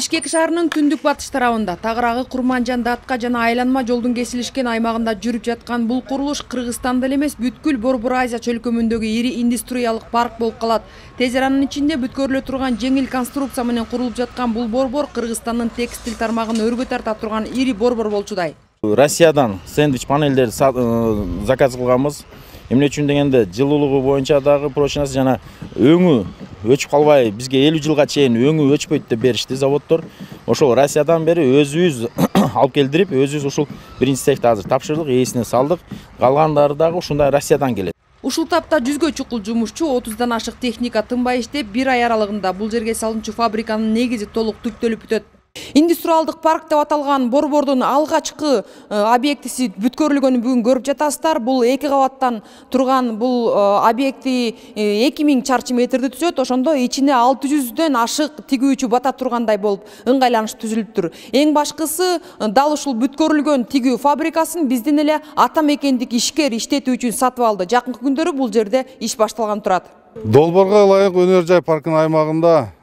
Бишкек шаарынын түндүк батыш тарабында тагыраагы Курманжан Датка жана айланма жолдун кесилишкен аймагында жүрүп жаткан бул курулуш Кыргызстанда эле эмес бүткүл Борбор Азия чөлкөмүндөгү ири индустриялык парк болуп калат. Тез аранын ичинде бүткөрүлө турган жеңил конструкция менен курулуп жаткан бул борбор Кыргызстандын текстиль тармагын өргө тарта турган ири борбор болчудай. Россиядан сэндвич панелдерди заказ кылганбыз. Эмне үчүн дегенде жылуулугу боюнча дагы прочность жана өңү өчүп калбай бизге 50 жылга чейин өңү өчпөйт деп беришти заводдор. Ошол Россиядан бери өзүбүз алып келдирип, өзүбүз ушул биринчи цехти азыр тапшырдык, ээсине салдык. Калгандары дагы ушундай Россиядан келет. Ушул тапта 100гө чукул жумушчу, 30дан ашык техника тынбай иштеп, 1 ай аралыгында бул жерге салынчу фабриканын негизи толук түптөлүп бүтөт. Индустриалдык парк деп аталган борбордун алгачкы объектиси бүткөрүлгөнүн бүгүн көрүп жатасыздар. Бул 2 кабаттан турган бул объекти 2000 чарчы метрди түзөт. Ошондо ичине 600дөн ашык тигүүчү бата тургандай болуп ыңгайланыш түзүлүптүр. Эң башкысы дал ушул бүткөрүлгөн тигүү фабрикасын биздин эле ата мекендик ишкер иштетүү үчүн сатып алды. Жакынкы күндөрү бул жерде иш башталган турат. Долбоорго ылайык өнөр жай паркынын аймагында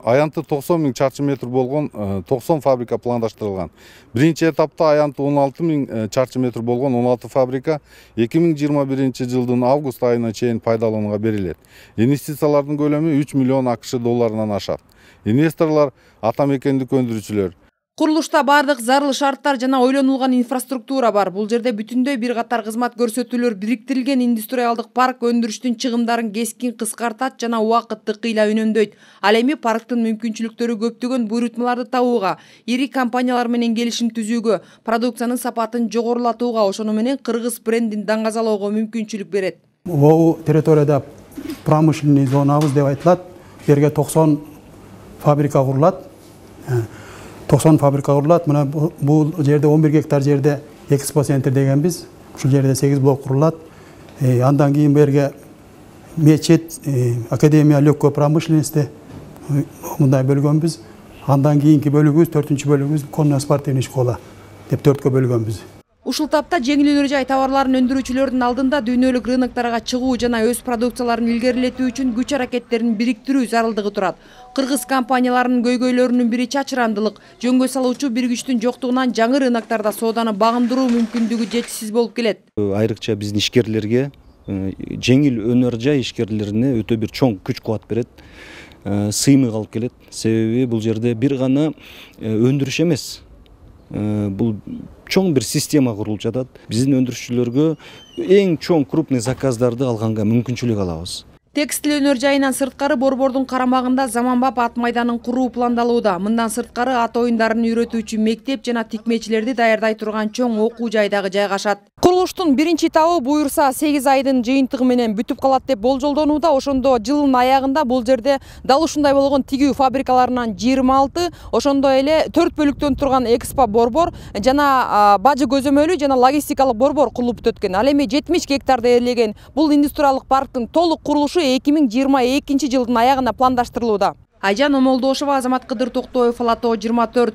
аянты 90 000 чарчы метр болгон 90 фабрика пландаштырылган. Биринчи этапта аянты 16 000 чарчы метр болгон 16 фабрика 2021 жылдын август айына чейин пайдаланууга берилет. Инвестициялардын көлөмү 3 миллион АКШ долларынан ашат. Инвесторлор ата мекендик өндүрүүчүлөр. Курулушта бардык зарыл шарттар жана ойлонулган инфраструктура бар. Бул жерде бүтүндөй бир катар кызмат көрсөтүүлөр бириктирилген. Индустриалдык парк өндүрүштүн чыгымдарын кескин кыскартат жана убакытты кыйла үнөмдөйт. Ал эми парктын мүмкүнчүлүктөрү көптөгөн буйрутмаларды табууга, ири компаниялар менен келишим түзүүгө, продукциянын сапатын жогорулатууга, ошону менен кыргыз брендин даңгазалоого мүмкүнчүлүк берет. Бул территорияда промышленный зонабыз деп айтылат. Жерге 90 фабрика курулат. 90 фабрика курулат. Мына бул жерде 11 гектар жерде экспо центр дегенбиз. Ушул жерде 8 блок курулат. Андан кийин берге мечет, академия легкой промышленности мындай бөлгөнбүз. Андан кийинки бөлүгүбүз, 4-бөлүгүбүз конно-спортивный школа деп 4кө бөлгөнбүз. Ушул тапта жеңил өнөр жай товарларын өндүрүүчүлөрдүн алдында дүйнөлүк рыноктарга чыгуу жана өз продукцияларын илгерилетүү үчүн күч аракеттерин бириктирүү зарылдыгы турат. Кыргыз компанияларынын көйгөйлөрүнүн бири чачырандылык. Жөнгө салуучу бир күчтүн жоктугунан жаңы рыноктарда сооданы багындыруу мүмкүндүгү жетишсиз болуп келет. Айрыкча биздин ишкерлерге, жеңил өнөр жай ишкерлерине өтө бир чоң күч кубат берет. Сыймык алып келет. Себеби бул жерде бир гана өндүрүш эмес. Бул чоң бир система курулуп жатат. Биздин өндүрүшчүлөргө эң чоң крупный заказдарды алганга мүмкүнчүлүк алабыз. Текстиль өнөр жайынан сырткары борбордун карамагында заманбап ат майданын куруу пландалууда. Мындан сырткары ат оюндарын үйрөтүүчү мектеп жана тикмечилерди даярдай турган чоң окуу жай дагы жайгашат. Курулуштун биринчи этабы буюрса 8 айдын жыйынтыгы менен бүтүп калат деп болжолдонууда. Ошондо жылдын аягында бул жерде дал ушундай болгон тигүү фабрикаларынан 26, ошондой эле 4 бөлүктөн турган экспо борбор жана бажы көзөмөлү жана логистикалык борбор курулуп өткөн. Ал эми 70 гектарды ээлеген бул индустриалдык парктын толук курулушу 2022 жылдын аягына пландаштырылууда. Айжан Омолдошова, Азамат Кыдыр Токтоев, Алатоо 24.